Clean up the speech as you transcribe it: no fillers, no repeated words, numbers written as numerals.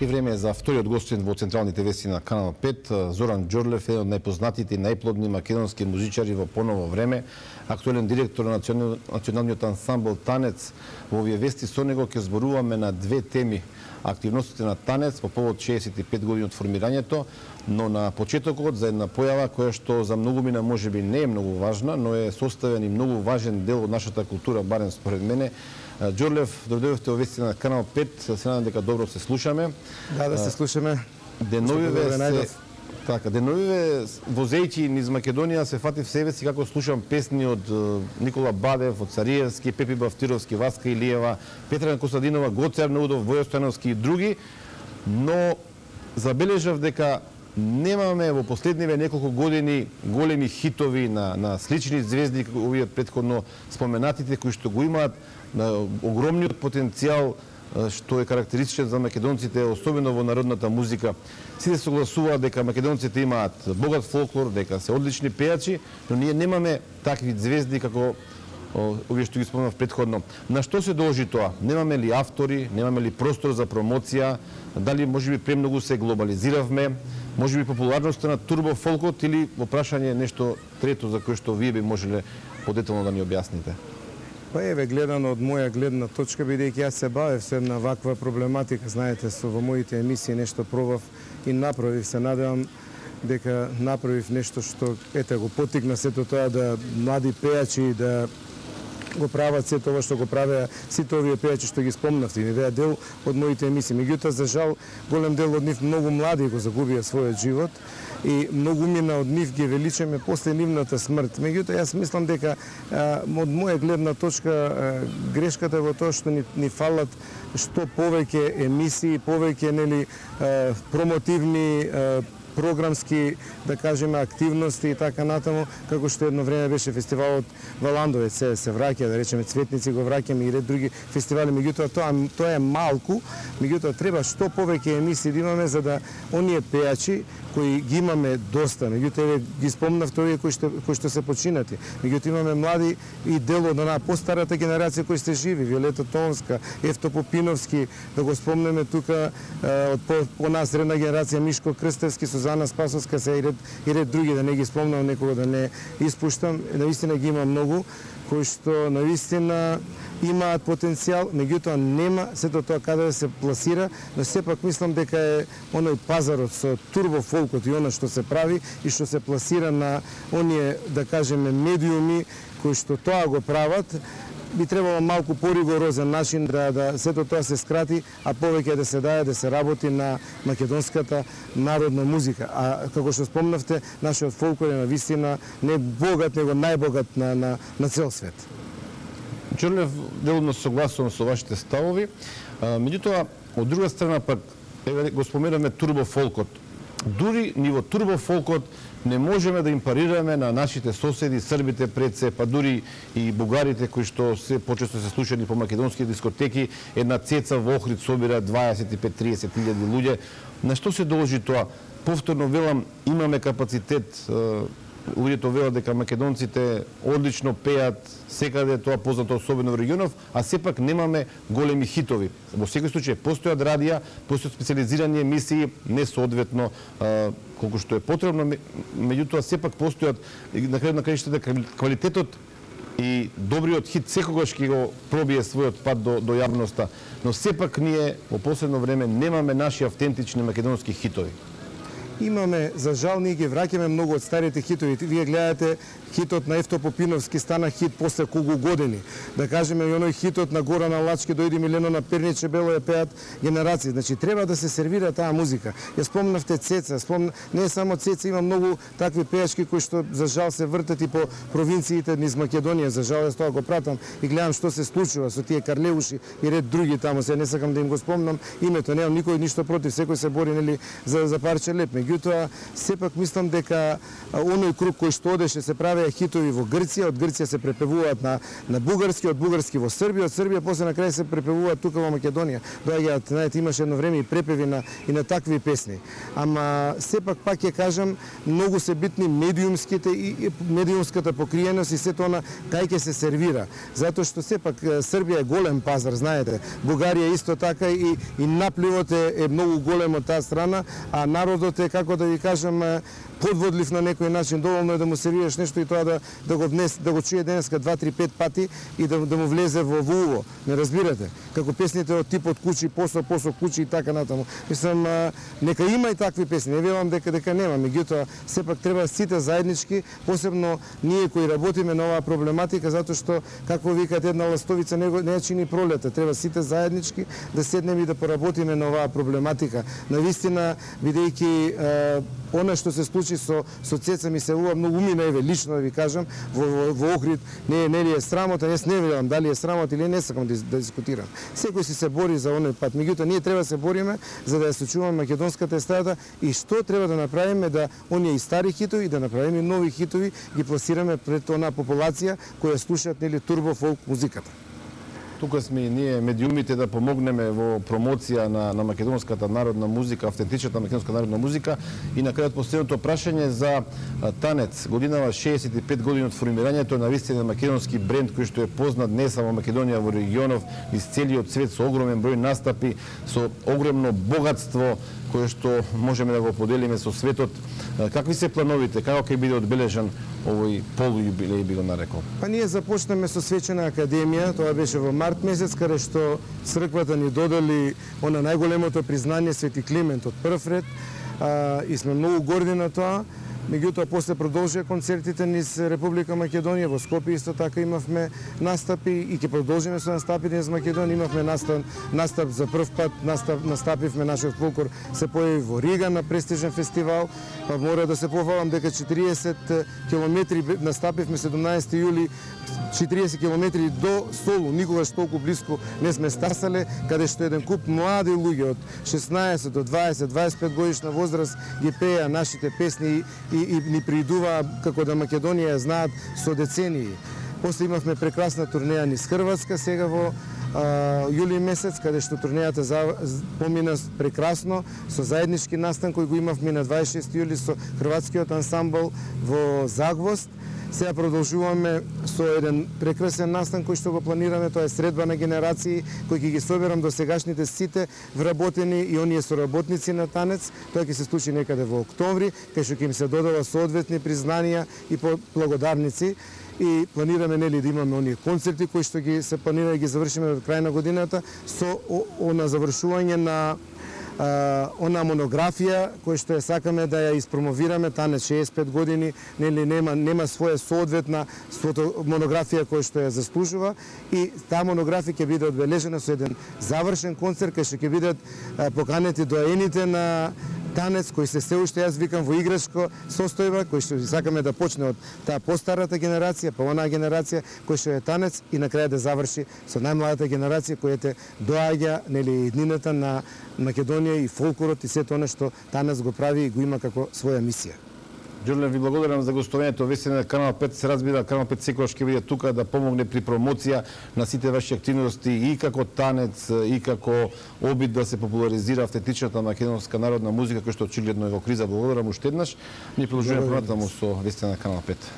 И време е за вториот гостин во централните вести на Канал 5. Зоран Џорлев е од најпознатите и најплодни македонски музичари во поново време. Актуелен директор на националниот ансамбл Танец. Во овие вести со него ќе зборуваме на две теми. Активностите на Танец по повод 65 години од формирањето, но на почетокот за една појава која што за многумина можеби не е многу важна, но е составен и многу важен дел од нашата култура, барем според мене. Џорлев, дојдовте во вести на Канал 5, се надам дека добро се слушаме. Да се слушаме. Деновиве возејќи низ Македонија се фатив себе си како слушам песни од Никола Бадев, од Цариевски, Пепи Бавтировски, Васка Илиева, Петра Костадинова, Гоце Арнаудов, Војо Стојановски и други, но забележав дека немаме во последниве неколку години големи хитови на слични звезди, овие претходно споменатите, кои што го имаат огромниот потенцијал што е карактеристичен за македонците, особено во народната музика. Сите согласуваат дека македонците имаат богат фолклор, дека се одлични пејачи, но ние немаме такви звезди како овие што ги спомнав претходно. На што се должи тоа? Немаме ли автори, немаме ли простор за промоција, дали можеби премногу се глобализиравме, можеби популарноста на турбо фолкот или во прашање нешто трето за кое што вие би можеле подетално да ни објасните? Па еве, гледано од моја гледна точка, бидејќи јас се бавев се на ваква проблематика, знаете, во моите емисии нешто пробав и направив, се надевам дека направив нешто што го потикна сето тоа да млади пејачи да го прават се тоа што го правеа сите овие пејачи што ги спомнавте, и беа дел од моите емисии. Меѓутоа, за жал, голем дел од нив многу млади го загубија својот живот и многу мина од нив ги величаме после нивната смрт. Меѓутоа, јас мислам дека од моја гледна точка грешката е во тоа што ни фалат што повеќе емисии, повеќе промотивни програмски, да кажеме, активности и така натаму, како што едно време беше фестивалот Валандовец, се враќа, да речеме, Цветници го враќаме и ред други фестивали, меѓутоа тоа е малку, меѓутоа треба што повеќе емисии да имаме за да оние пејачи кои ги имаме доста, меѓутоа ги спомнавте овие кои што се починати. Меѓутоа имаме млади и дел од онаа постарата генерација кои сте живи, Виолета Тонска, Евто Попиновски, да го спомнеме тука од по нас средна генерација Мишко Крстевски, Сузана Спасовска, се и ред други, да не ги спомнам некого, да не испуштам. Наистина ги има многу кои што наистина имаат потенцијал, меѓутоа нема сето тоа каде да се пласира, но сепак мислам дека е оној пазарот со турбо фолкот и она што се прави и што се пласира на оние, да кажеме, медиуми кои што тоа го прават, би требало малку поригорозен начин да сето тоа се скрати, а повеќе да се даде да се работи на македонската народна музика. А како што спомнавте, нашиот фолклор е навистина не богат, него најбогат на цел свет. Џорлев, делумно согласувам со вашите ставови. Меѓутоа, од друга страна пак, го споменавме турбо фолкот. Дури ниво турбо фолкот не можеме да им парираме на нашите соседи, србите пред се, па дури и бугарите кои што се почесто се слушани по македонски дискотеки, една цеца во Охрид собира 25-30 илјади луѓе. На што се должи тоа? Повторно велам, имаме капацитет, луѓето велат дека македонците одлично пеат секаде, тоа познато особено во регионов, а сепак немаме големи хитови. Во секој случај постојат радија, постојат специализирани емисии, не соодветно колку што е потребно, меѓутоа сепак постојат на крајот на краиштата квалитетот и добриот хит секогаш ќе го пробие својот пат до јавноста, но сепак ние во последно време немаме наши автентични македонски хитови. Имаме, за жал, ние ги враќаме многу од старите хитови. Вие гледате хитот на Евто Попиновски стана хит после колку години. Да кажеме и оној хитот на Горана Лачки, дојди Милено на Перниче бело ја пеат генерации. Значи треба да се сервира таа музика. Ја спомнавте Цеца, не само Цеца, има многу такви пејачки кои што за жал се вртат и по провинциите низ Македонија. За жал јас тоа го пратам и гледам што се случува со тие Карлеуши и ред други таму. Се не сакам да им го спомнам името, немам никој ништо против, секој се бори за парче леп. меѓутоа сепак мислам дека оној круг кој што одеше се правеа хитови во Грција, од Грција се препевуваат на бугарски, од бугарски во Србија, од Србија после на крај се препевуваат тука во Македонија. Доаѓаат, знаете, имаше едно време и препеви и на такви песни. Ама сепак пак ќе кажам, многу се битни медиумските и медиумската покриеност и сето она кај ќе се сервира. Затоа што сепак Србија е голем пазар, знаете. Бугарија исто така и напливот е многу голем од таа страна, а народот е, како да ви кажам, подводлив на некој начин, доволно е да му сервираш нешто и тоа да го чуе денеска 2-3-5 пати и да му влезе во уво. Не разбирате? Како песните од типот кучи, посо кучи и така натаму. Мислам, нека има и такви песни, не велам дека нема, меѓутоа сепак треба сите заеднички, посебно ние кои работиме на оваа проблематика, затоа што како викат една ластовица не чини пролета, треба сите заеднички да седнеме и да поработиме на оваа проблематика. Навистина, бидејќи она што се случи со Цеца ми се многу умина, еве лично да ви кажам, во Охрид не ли е срамота, јас не велам дали е срамота или не сакам да дискутирам. Секој си се бори за оној пат, меѓутоа ние треба да се бориме за да ја сочуваме македонската естрада и што треба да направиме да оние и стари хитови да направиме нови хитови ги пласираме пред онаа популација која слушаат нели турбо фолк музиката. Тука сме и ние медиумите да помогнеме во промоција на македонската народна музика, автентичната македонска народна музика и на крајот последното прашање за Танец. Годинава 65 години од формирањето на вистина македонски бренд кој што е познат не само во Македонија, во регионов, из целиот свет со огромен број настапи, со огромно богатство кое што можеме да го поделиме со светот. Какви се плановите? Како ќе биде одбележан овој полујубилеј, би го нарекол? Па ние започнеме со свечена академија, тоа беше во март месец, каде што црквата ни додели она најголемото признание Свети Климент од прв ред и сме многу горди на тоа. Меѓутоа, после продолжија концертите низ Република Македонија, во Скопје исто така имавме настапи и ќе продолжиме со настапите низ Македонија. Имавме настап за прв пат, настапивме нашиот фолклор се појави во Рига на престижен фестивал. Па мора да се пофалам дека 40 километри настапивме 17 јули, 40 километри до Солу, никогаш толку блиску не сме стасале, каде што еден куп млади луѓе од 16 до 20-25 годишна возраст ги пееа нашите песни и ни приидуваа како да Македонија ја знаат со децении. После имавме прекрасна турнеја низ Хрватска сега во јули месец, каде што турнејата помина прекрасно, со заеднички настан кој го имавме на 26 јули со хрватскиот ансамбл во Загвост. Сега продолжуваме со еден прекрасен настан кој што го планираме, тоа е средба на генерации, кој ќе ги соберам до сегашните сите вработени и оние соработници на Танец. Тоа ќе се случи некаде во октомври, кај што ќе им се додава соодветни признанија и благодарници. И планираме нели да имаме оние концерти кои што ги се планира да ги завршиме до крај на годината со на завршување на она монографија која што ја сакаме да ја испромовираме. Танец 65 години, нели нема своја соодветна монографија која што ја заслужува и таа монографија ќе биде одбележена со еден завршен концерт кај што ќе бидат поканети доаените на Танец, кој се уште јас викам во играчко состојба, кој што сакаме да почне од таа постарата генерација, па онаа генерација кој што е Танец и на крај да заврши со најмладата генерација која те доаѓа нели иднината на Македонија и фолклорот и сето она што Танец го прави и го има како своја мисија. Ѓурле, ви благодарам за гостувањето. Вистина на Канал 5 се разбира, Канал 5 секогаш ќе биде тука да помогне при промоција на сите ваши активности и како Танец и како обид да се популаризира автентичната македонска народна музика која што очигледно е во криза. Благодарам уште еднаш. Ние продолжуваме понатаму со вестите на Канал 5.